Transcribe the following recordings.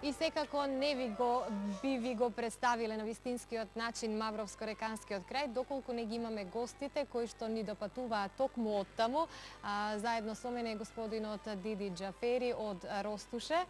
И секако не би го представиле на вистинскиот начин Мавровско-реканскиот крај, доколку не ги имаме гостите кои што ни допатуваат токму од таму. Заедно со мене е господинот Диди Џафери од Ростуше.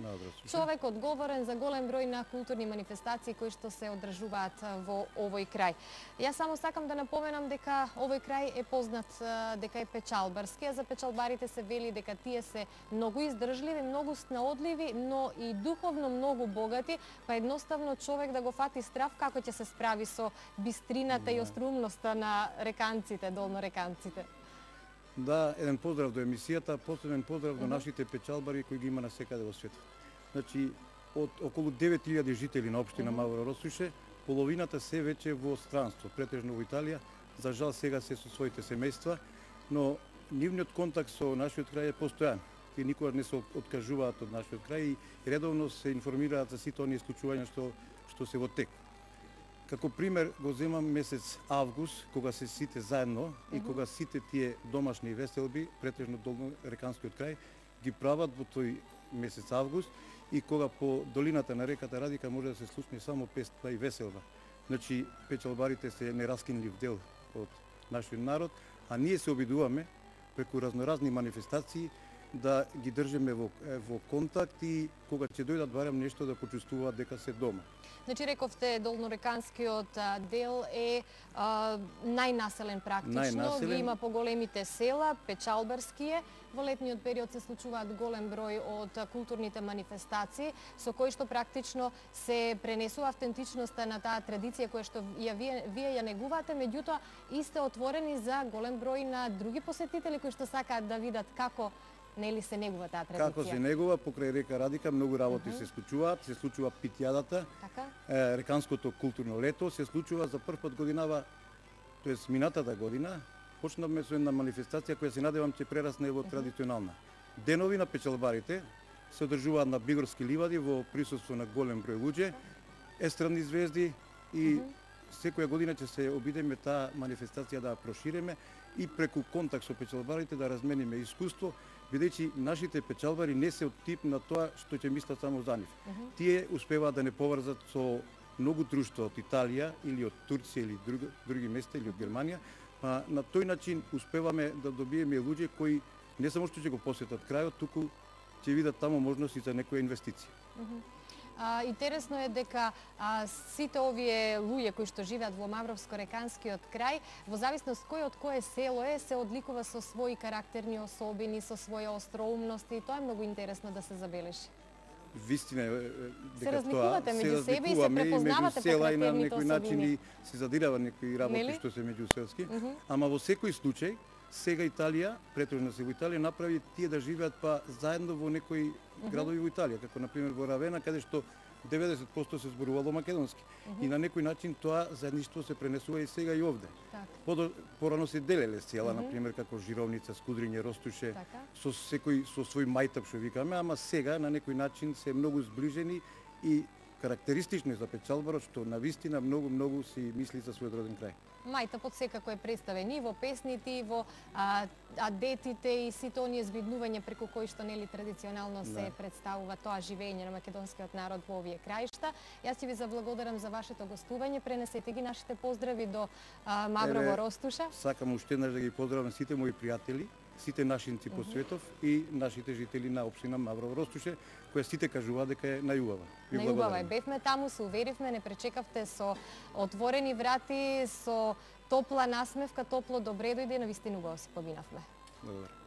Човек одговорен за голем број на културни манифестации кои што се одржуваат во овој крај. Јас само сакам да напоменам дека овој крај е познат дека е печалбарски, а за печалбарите се вели дека тие се многу издржливи, многу снаодливи, но и духовно многу богати, па едноставно човек да го фати страв како ќе се справи со бистрината и острумноста на реканците, долнореканците. Да, еден поздрав до емисијата, посебен поздрав до нашите печалбари кои ги има насекаде во светот. Значи, од околу 9000 жители на општина Мавро Ростуше, половината се веќе во странство, претежно во Италија, за жал сега се со своите семејства, но нивниот контакт со нашиот крај е постојан. И никогаш не се откажуваат од нашиот крај и редовно се информираат за сите оние случувања што се во тек. Како пример го земам месец август, кога се сите заедно и кога сите тие домашни веселби, претежно долнореканскиот крај, ги прават во тој месец август и кога по долината на реката Радика може да се слушне само песна и веселба. Значи, печалбарите се нераскинлив дел од нашиот народ, а ние се обидуваме преку разноразни манифестации да ги држиме во контакт и кога ќе дојдат барем нешто да почувствуваат дека се дома. Значи рековте долнореканскиот дел е најнаселен практично, ги има поголемите села, печалбарски е. Во летниот период се случуваат голем број од културните манифестации со кои што практично се пренесува автентичноста на таа традиција која што вие ја негувате, меѓутоа и сте отворени за голем број на други посетители кои што сакаат да видат како нели се негува таа традиција. Како се негува покрај река Радика, многу работи се случуваат, се случува питјадата, реканското културно лето, се случува за прв пат годинава, тоест минатата година, почнавме со една манифестација која се надевам ќе прерасне во традиционална. Денови на печалбарите се одржуваат на Бигорски ливади во присуство на голем број луѓе, естрадни звезди и секоја година ќе се обидеме таа манифестација да ја проширеме и преку контакт со печалбарите да размениме искуство, бидејќи нашите печалбари не се од тип на тоа што ќе мислат само за нив. Тие успеваат да не поврзат со многу друштва од Италија или од Турција или други места или од Германија, па на тој начин успеваме да добиеме луѓе кои не само што ќе го посетат крајот, туку ќе видат таму можности за некоја инвестиција. Интересно е дека сите овие луѓе кои што живеат во Мавровско-реканскиот крај, во зависност кој од кое село е, се одликува со своји карактерни особини, со своја остроумност и тоа е многу интересно да се забележи. Вистина е дека се разликувате меѓу себе и се препознавате по карактерните особини. Се задирава некои работи што се меѓуселски, ама во секој случај сега Италија, претежно се во Италија, направи тие да живеат па заедно во некои градови во Италија, како на пример во Равена, каде што 90% се зборувало македонски. И на некој начин тоа заедништво се пренесува и сега и овде. Порано се делеле села, на пример како Жировница, Скудриње, Ростуше, со секој со свој мајтап што викаме, ама сега на некој начин се многу зближени и карактеристично за печалбарот што навистина многу си мисли за својот роден крај. Мајтапот секако е представен и во песните, и во адетите и сите оние збиднувања преку кои што нели традиционално се представува тоа живење на македонскиот народ во овие краишта. Јас ќе ви заблагодарам за вашето гостување, пренесете ги нашите поздрави до Маврово Ростуша. Сакам уште еднаш да ги поздравам сите мои пријатели, сите нашинци по светов и нашите жители на општина Маврово Ростуше, која сите кажуваат дека е најубава. Најубава е. Бевме таму, се уверивме, не пречекавте со отворени врати, со топла насмевка, топло добре дојде, навистина убаво си поминавме. Добро.